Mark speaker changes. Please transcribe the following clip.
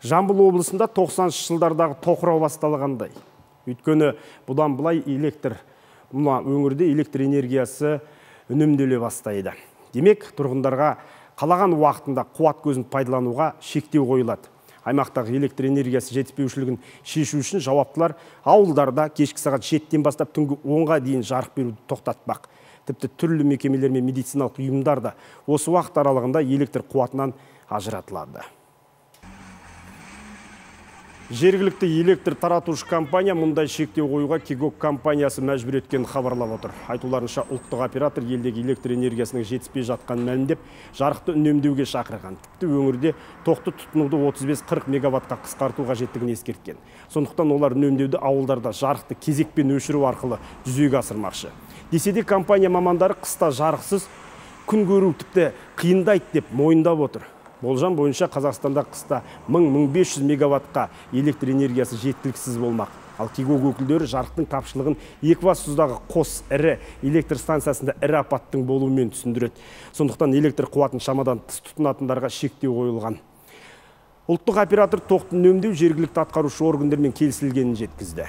Speaker 1: Жамбыл облысында 90-шы жылдардағы тоқырау басталғандай. Өйткені бұдан былай өңірде электр энергиясы үнемделе бастайды. Демек, тұрғындарға қалаған уақытында қуат көзін пайдалануға шектеу қойылады. Аймақтағы электр энергиясы жетіспеушілігін шешу үшін жауаптылар ауылдарда кешкі сағат 7-тен бастап түнгі 10-ға дейін жарық беруді тоқтатпақ. Тіпті түрлі мекемелер мен медициналық ұйымдар да осы уақыт аралығында электр қуатынан ажыратылады. Жергілікті электр таратушы компания мұндай шектеу қоюға Кигок компаниясы мәжбүр еткенін хабарлап отыр. Айтуларынша, ұлттық оператор елдегі электр энергиясының жетіспей жатқанын мәлімдеп, жарықты үнемдеуге шақырған. Тіпті өңірде тоқты тұтынуды 35-40 мегаваттқа қысқарту қажеттігін ескерткен. Сондықтан олар үнемдеуді ауылдарда жарықты кезекпен өшіру арқылы жүзеге асырмақшы. Десе де компания мамандары қыста жарықсыз күн көру тіпті қиындайды деп мойындап отыр. Болжам бойынша Қазақстанда қыста 1000-1500 мегаваттқа электр энергиясы жеткіліксіз болмақ. Ал Кигок өкілдері жарықтың тапшылығын Екібастұздағы қос ірі электр станциясында ірі апаттың болуымен түсіндіреді. Сондықтан электр қуатын шамадан тыс тұтынатындарға шектеу қойылған. Ұлттық оператор тоқты үнемдеу жергілікті атқарушы органдармен келісілгенін жеткізді.